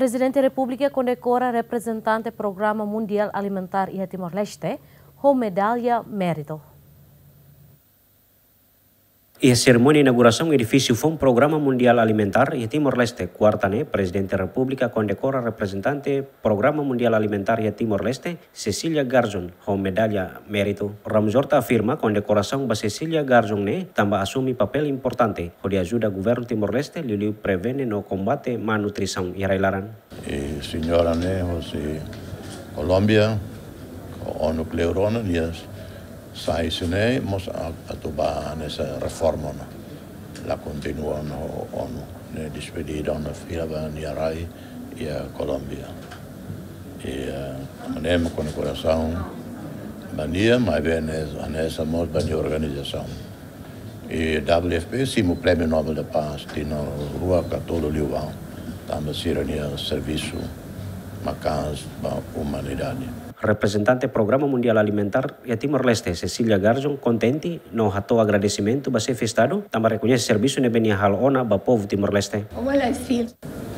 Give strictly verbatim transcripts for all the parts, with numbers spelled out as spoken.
Prezidente Repúblika kondekora reprezentante Programa Mundiál Alimentár iha Timor-Leste ho medalla méritu. Iha serimónia inaugurasaun edifísiu foun Programa Mundiál Alimentár iha Timor-Leste, kuarta ne'e, Prezidente Repúblika kondekora reprezentante Programa Mundiál Alimentár iha Timor-Leste, Cecilia Garzón, ho medalla méritu. Ramos-Horta afirma kondekorasaun ba Cecilia Garzón ne'e tanba asume papél importante hodi ajuda governu Timor-Leste liuliu prevene no kombate má nutrisaun iha rai-laran. I señora ne'e hosi Kolómbia, ho ONU kleur ona, nia sai husi ne'e mós a-, atu ba hanesan reforma ona. La kontinua ona ho ONU. Ne'e despedida ona fila ba nia rai iha Kolómbia. I, eh, mak ne'e mak kondekorasaun ba nia, maibé ne'e hanesan mós ba nia organizasaun. I W F P simu Prémiu Nobel da Paz tinan rua ka tolu liubá, tanba sira-nia servisu maka'as ba umanidade. Reprezentante Programa Mundiál Alimentár iha Timor-Leste, Cecilia Garzón, kontente no hato'o agradesimentu ba Xefe Estadu tanba rekoñese servisu ne'ebé nia halo ona ba povu Timor-Leste. Well, I feel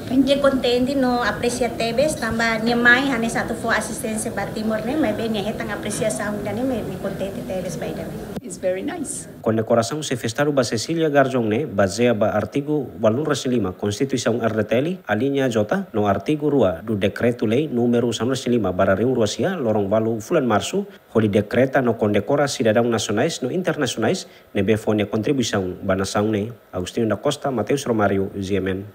Nia kontente no apresia tebes, tanba nia mai hanesan atu fó asisténsia ba Timor ne'e, maibé nia hetan apresiasaun ida-ne'e, nia kontente tebes ba ida-ne'e. It's very nice. Kondekorasaun Xefe Estadu ba Cecilia Garzón ne'e bazeia ba artigu ualunulu-resin-lima Konstituisaun R D T L, alínea J, no artigu rua do Dekretu-Lei númeru sanulu-resin-lima barra rihun rua sia, loron ualu fulan Marsu, hodi dekreta no kondekora sidadaun nasionais no internasionais ne'ebé fó nia kontribuisaun ba nasaun ne'e. Agostinho da Costa, Mateus Romário, G M N.